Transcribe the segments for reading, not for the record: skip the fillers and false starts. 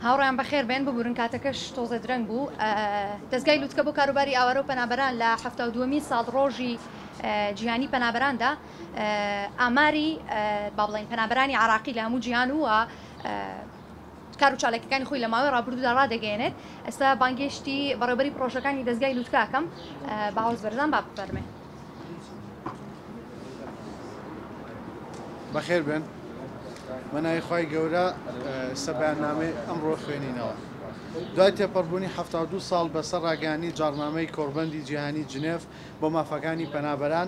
هاوڕێیان بەخێر بێن، ببورن کاتەکەش تۆزێ درەنگ بوو. دەزگای لوتکە بۆ کاروباری ئاوارە و پەنابەران لە 72مین ساڵڕۆژی جیهانی پەنابەراندا ئاماری با بڵێین پەنابەرانی عراقی لە هەموو جیهان و کار و چالاکیەکانی خۆی لە ماوەی ڕابردوودا ڕادەگەیەنێت. ئێستا بانگێشتی بەڕێوبەری پڕۆژەکانی دەزگای لوتکە ئەکەم، باوەز بەرزان با بفەرمێ. بەخێر بێن. بە ناوی خوای گەورە ئێستا بەیاننامەی ئەمڕۆ خوێنینەوە. دوای تێپەڕبوونی 72 ساڵ بەسەر ڕاگەیاندنی جاڕنامەی کۆڕبەندی جیهانی جنێف بۆ مافەکانی پەنابەران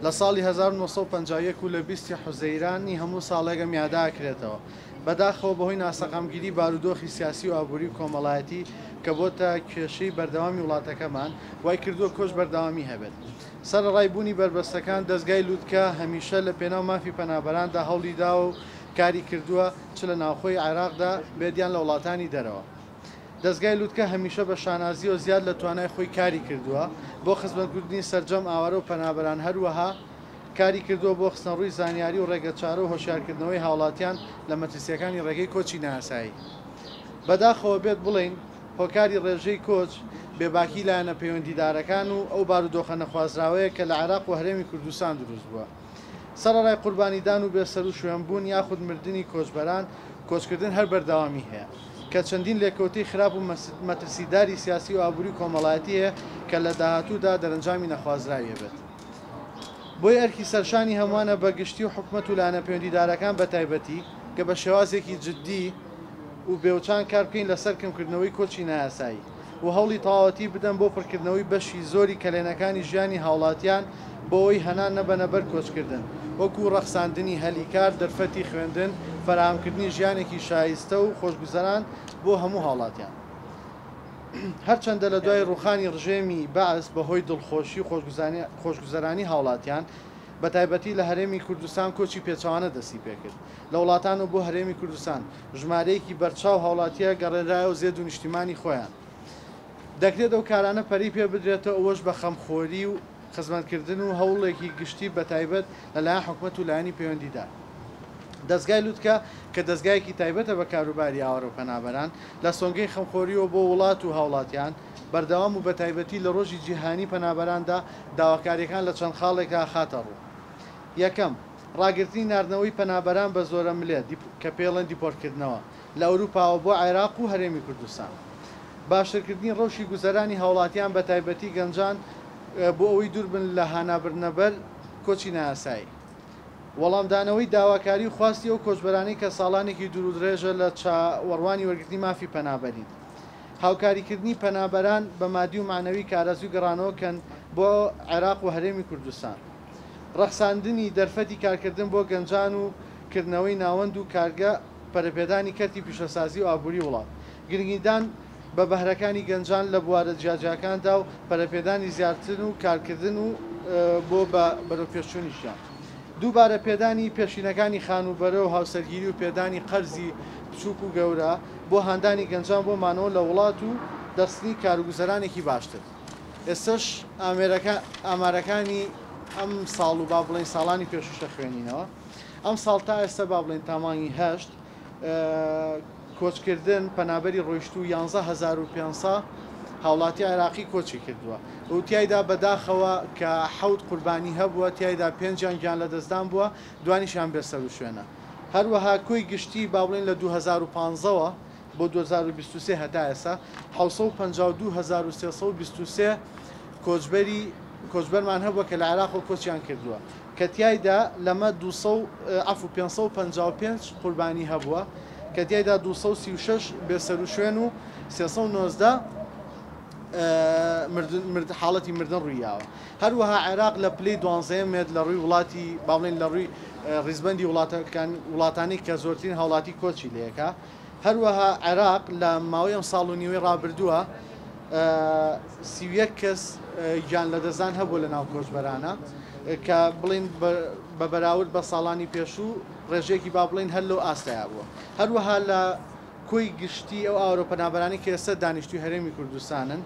لە ساڵی 1951 و لە 20 حوزەیرانی هەموو ساڵێک ئەم یادە ئەکرێتەوە. بەداخەوە بەهۆی ناسەقامگیری بارودۆخی سیاسی و ئابووری و کۆمەڵایەتی کە بۆتە کێشەی بەردەوامی وڵاتەکەمان، وای کردووە کۆچ بەردەوامی هەبێت. سەرەڕای بوونی بەربەستەکان، دەزگای لوتکە هەمیشە لە پێناو مافی پەنابەراندا هەوڵی داوە و کاری کردووە، چ لە ناوخۆی عێراقدا بێت یان لە وڵاتانی دەرەوە. دەزگای لوتکە هەمیشە بە شانازییەوە زیاد لە توانای خۆی کاری کردووە بۆ خزمەتکردنی سەرجەم ئاوارە و پەنابەران، هەروەها کاری کردووە بۆ خستنەڕووی زانیاری و ڕێگەچارە و هۆشیارکردنەوەی هاوڵاتیان لە مەترسییەکانی ڕێگەی کۆچی نایاسایی. بەداخەوە بێت بڵێین هۆکاری ڕێژەی کۆچ، بێباکی لایەنە پەیوەندیدارەکان و ئەو بارودۆخە نەخوازراوەیە کە لە عێراق و هەرێمی کوردستان دروست بووە. سەرەڕای قوربانیدان و بێسەروشوێنبوون یاخود مردنی کۆچبەران، کۆچکردن هەر بەردەوامی هەیە، کە چەندین لێکەوتەی خراپ و مەترسیداری سیاسی و ئابووری و کۆمەڵایەتی هەیە کە لە داهاتوودا دەرەنجامی نەخوازراوی ئەبێت. بۆیە ئەرکی سەرشانی هەمووانە بە گشتی و حکومەت و لایەنە پەیوەندیدارەکان بە تایبەتی کە بە شێوازێکی جددی و بێوچان کار بکەین لەسەر کەمکردنەوەی کۆچی نایاسایی و هەوڵی تەواوەتی بدەن بۆ پڕکردنەوەی بەشی زۆری کەلێنەکانی ژیانی هاوڵاتیان بۆ ئەوەی هەنا نەبەنە بەر کۆچکردن وەکو ڕەخساندنی هەلی کار، دەرفەتی خوێندن، فەراهەمکردنی ژیانێکی شایستە و خۆشگوزەران بۆ هەموو هاوڵاتیان. هەرچەندە لە دوای ڕووخانی ڕژێمی بەعس بەهۆی دڵخۆشی و خۆشگوزەرانی هاوڵاتیان بەتایبەتی لە هەرێمی کوردستان کۆچی پێچەوانە دەستی پێکرد لە وڵاتان و بۆ هەرێمی کوردستان ژمارەیەکی بەرچاو هاوڵاتیە گەڕێنرایەوە زێد و نیشتیمانی خۆیان. دەکرێت ئەو کارانە پەرەی پێ بدرێتەوە ئەوەش بە خەمخۆری و خزمەتکردن و هەوڵێکی گشتی بەتایبەت لەلایەن حکومەت و لایەنی پەیوەندیدار. دەزگای لوتکە کە دەزگایەکی تایبەتە بە کاروباری ئاوارە و پەنابەران، لە سۆنگەی خەمخۆرییەوە بۆ وڵات و هاوڵاتیان، بەردەوام و بەتایبەتی لە ڕۆژی جیهانی پەنابەراندا داواکارییەکان لە چەند خاڵێکا خاتە ڕوو. یەکەم، ڕاگرتنی ناردنەوەی پەنابەران بە زۆرەملێ، کە پێیڵێن دیپۆرتکردنەوە، لە ئەوروپاوە بۆ عێراق و هەرێمی کوردستان. باشترکردنی ڕەوشی گوزەرانی هاوڵاتیان بەتایبەتی گەنجان بۆ ئەوەی دووربن لە هانابردنەبەر کۆچی نایاسایی. وەڵامدانەوەی داواکاری و خواستی ئەو کۆچبەرانەی کە ساڵانێکی دوورودڕێژە لە چاوەڕوانی وەرگرتنی مافی پەنابەرین. هاوکاریکردنی پەنابەران بە مادی و مەعنەوی کە ئارەزووی گەڕانەوە کەن بۆ عێراق و هەرێمی کوردستان. ڕەخساندنی دەرفەتی کارکردن بۆ گەنجان و کردنەوەی ناوەند و کارگە پەرەپێدانی کەرتی پیشەسازی و ئابووری وڵات. گرنگیدان بە بەهرەکانی گەنجان لە بوارە جیاجیاکاندا و پەرەپێدانی زیاتر و کارکردن و بۆ بە بەرەوپێشچوونی ژیان. دووبارە پێدانی پێشینەکانی خانووبەرە و هاوسەرگیری و پێدانی قەرزی بچووک و گەورە بۆ هاندانی گەنجان بۆ مانەوە لە وڵات و دەرخستنی کاروگوزەرانێکی باشتر. ئێستەش ئامێرەکە ئامارەکانی ئەم ساڵ و با بڵێین ساڵانی پێشووش دەخوێنینەوە. ئەم ساڵ تا ئێستا با بڵێین تا مانگی هەشت کۆچکردن پەنابەری ڕۆیشتوو 11500 هاوڵاتی عێراقی کۆچی کردووە و تیایدا بەداخەوە کە حەوت قوربانی هەبووە تیایدا پێنجیان گیان لەدەستدان بووە دوانیشیان بێسەروشوێنە هەروەها کۆی گشتی با بڵێین لە 2015ەوە بۆ 2023 هەتا ئێستا 752323 کۆچبەری کۆچبەرمان هەبووە کە لە عێراقەوە کۆچیان کردووە کە تیایدا لەمە 200 عەفو 555 قوربانی هەبووە کە تیایدا 236 بێسەروشوێن و 319 مردن مرد حاڵەتی مردن ڕوویاوە. هەروەها عێراق لە پلەی دوانزەیەم ێت لە ڕووی وڵاتی با بڵێین لە ڕووی ڕیزبەندی وڵاتەکان وڵاتانی کە زۆرترین هاوڵاتی کۆچی لێکا. هەروەها عێراق لە ماوەی ئەم ساڵ و نیوەی ڕابردووە 31 کەس گیان لەدەستدان هەبووە لە ناو کۆچبەرانە کە بڵێین بە بەراورد بە ساڵانی پێشوو ڕێژەیەکی با بڵێین هەر لەو ئاستەیا بووە. هەروەها لە کۆی گشتی ئەو ئاوارە و پەنابەرانەی کە ئێستا دانیشتووی هەرێمی کوردستانن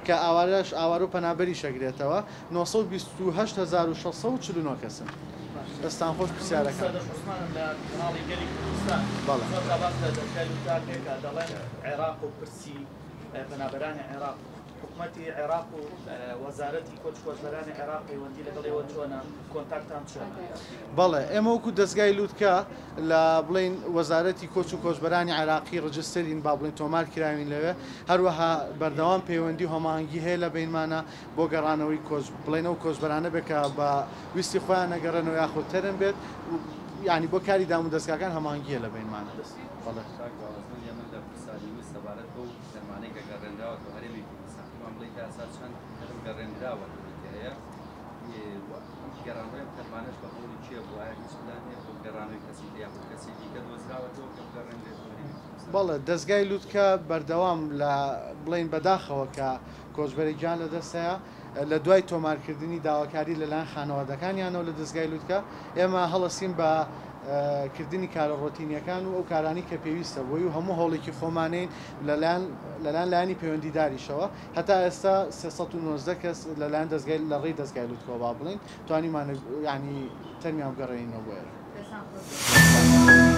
کە ئاوارەش ئاوارە و پەنابەریش ئەگرێتەوە 928649 کەسن. دەستان خۆش پرسیارەکان. سەردەشت عوسمانم لە کەناڵی گەلی کوردستان. بەڵێ. زۆر جار باس لە دەزگای لوتکە پێکا دەڵێن عێراق و پرسی پەنابەرانی عێراق حکومەتی عێراق و وەزارەتی کۆچ کۆچبەرانی عێراق پەیوەندی لەگەڵ ئێوە چۆنە کۆنتاکتان چۆنە؟ بەڵێ ئێمە وەکو دەزگای لوتکە لە بڵێین وەزارەتی کۆچ و کۆچبەرانی عێراقی ڕجسترین با بڵێین تۆمار کراوین لەوێ هەروەها بەردەوام پەیوەندی و هەماهەنگی هەیە لە بەینمانە بۆ گەڕانەوەی کۆچ بڵێن ئەو کۆچبەرانە بێت کە بە ویستی خۆیان نەگەڕێنەوە یاخود تەرم بێت یانی بۆ کاری دامودەزگاکان هەماهەنگی هەیە لە بەینمانە. بەڵێ. کاک باوەز من یەمن لە پرسیاری ویست سەبارەت بەو تەرمانەی کە گەڕێنراوەتەوە هەرێمی کوردستان پێمان بڵێی تا ئێستا چەند تەرم گەڕێنراوەتەوە کە هەیە و ئەم گەڕانەوەی ئەم تەرمانەش بە هەوڵی کێ بوو ئایا هیچ پلان هەیە بۆ گەڕانەوەی کەسی تر یاخود کەسی دیکە دۆزراوەتەوە کە بگەڕێنرێتەوە هەرێمی کوردستان؟ بەڵێ دەزگای لوتکە بەردەوام لە بڵێین بەداخەوە کە کۆچبەرێک گیان لەدەست هەیە لە دوای تۆمارکردنی داواکاری لەلایەن خانەوادەکانیانەوە لە دەزگای لوتکە ئێمە هەڵەسین بە کردنی کارە ڕۆتینیەکان و ئەو کارانەی کە پێویستە بۆی و هەموو هەوڵێکی خۆمانین لەلایەن لەلایەن لایەنی پەیوەندیداریشەوە هەتا ئێستا 319 کەس لەلایەن دەزگای لە ڕێی دەزگای لوتکەوە با بڵێین توانیمانە یانی تەرمیان بگەڕێنینەوە بۆ ئێرە. دەستان خۆش بێت.